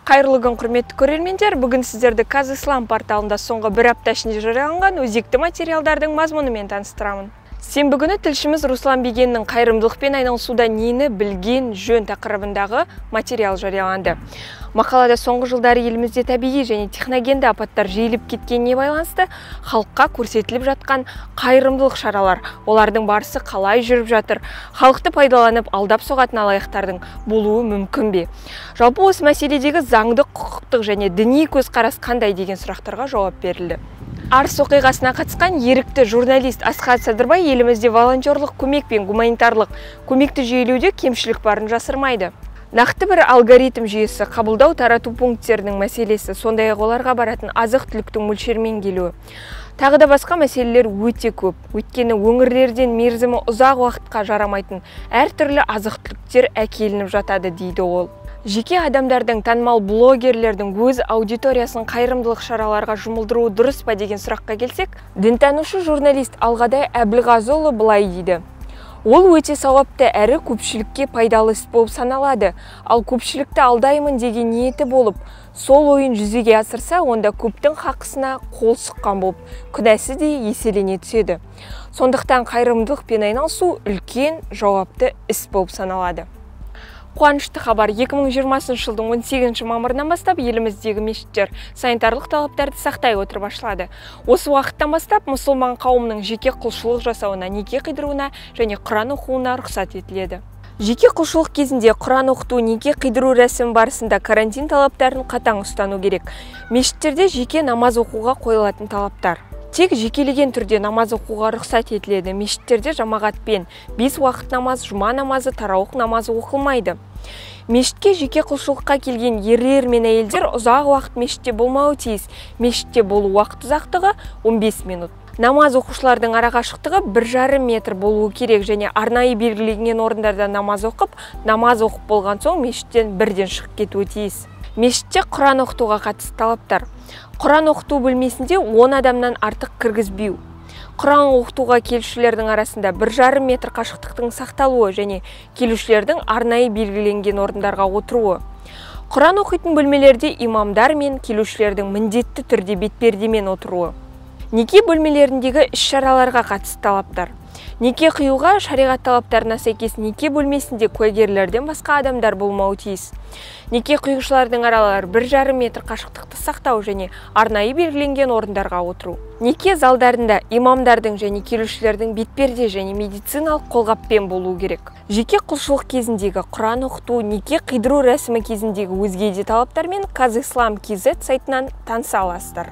Қайырлы күн, құрметті көрермендер. Бүгін сіздерді Казислам порталында соңғы бір апта ішінде жарияланған өзекті материалдардың мазмұнымен таныстырамын. Сенбі күні тілшіміз Руслан Бегеннің қайырымдылықпен айналысуда нені білген жөн тақырыбындағы материал жарияланды. Мақалада соңғы жылдары елімізде табиғи және техногенді апаттар жиіліп кеткеніне байланысты халыққа көрсетіліп жатқан қайырымдылық шаралар, олардың барысы қалай жүріп жатыр, халықты пайдаланып алдап соғатын алаяқтардың болуы мүмкін бе? Жалпы осы мәселедегі заңдық, құқықтық және діни көзқарас қандай деген сұрақтарға жауап берілді. Арыс оқиғасына қатысқан ерікті журналист Асхат Садырбай елімізде волонтерлық көмек пен гуманитарлық көмекті жүйелеуде кемшілік барын жасырмайды. Нақты бір алгоритм жүйесі, қабылдау тарату пункттерінің мәселесі, сондай-ақ оларға баратын азық-түліктің мөлшермен келуі. Тағы да басқа мәселелер өте көп. Өйткені өңірлерден мерзімі ұзақ уақытқа жарамайтын әртүрлі азық-түліктер әкелініп жатады, дейді ол. Жеке адамдардың, танымал блогерлердің өз аудиториясын қайырымдылық шараларға жұмылдыруы дұрыс па деген сұраққа келсек, дінтанушы журналист Алғадай Әбілғазыұлы былай дейді. Ол өте сауапты әрі көпшілікке пайдалы іс болып саналады. Ал көпшілікті алдаймын деген ниеті болып, сол ойын жүзеге асырса, онда көптің хақысына қол сұққан болып, күнәсі де еселене түседі. Сондықтан қайырымдылықпен айналысу үлкен жауапты іс болып саналады. Қуанышты хабар, 2020 жылдың 18 мамырынан бастап еліміздегі мешіттер санитарлық талаптарды сақтай отырып ашылады. Осы уақыттан бастап мұсылман қауымның жеке құлшылық жасауына, неке қидыруына және Құран оқуына рұқсат етіледі. Жеке құлшылық кезінде Құран оқыту, неке қидыру рәсімі барысында карантин талаптарын қатаң ұстану керек. Мешіттерде жеке намаз оқуға қойылатын талаптар. Тек жекелеген түрде намаз оқуға рұқсат етіледі. Мешіттерде жамағатпен 5 уақыт намаз, жұма намазы, тарауық намазы оқылмайды. Мешітке жеке құлшылыққа келген ерлер мен әйелдер ұзақ уақыт мешітте болмауы тиіс. Мешітте болу уақыт ұзақтығы 15 минут. Намаз оқушылардың арақашықтығы 1,5 метр болуы керек және арнайы белгіленген орындарда намаз оқып болған соң мешіттен бірден шығып кетуі тиіс. Мешітте Құран оқытуға қатысты талаптар. Құран оқыту бөлмесінде 10 адамнан артық кіргізбеу. Құран оқытуға келушілердің арасында 1,5 метр қашықтықтың сақталуы және келушілердің арнайы белгіленген орындарға отыруы. Құран оқитын бөлмелерде имамдар мен келушілердің міндетті түрде бетпердемен отыруы. Неке бөлмелеріндегі іс-шараларға қатысты талаптар. Неке қиюға шариғат талаптарына сәйкес неке бөлмесінде куәгерлерден басқа адамдар болмауы тиіс. Неке қиюшылардың аралары 1,5 метр қашықтықты сақтау және арнайы белгіленген орындарға отыру. Неке залдарында имамдардың және келушілердің бетперде және медициналық қолғаппен болуы керек. Жеке құлшылық кезіндегі Құран оқыту, неке қидыру рәсімі кезіндегі өзге де талаптармен Казислам.kz сайтынан таныса аласыздар.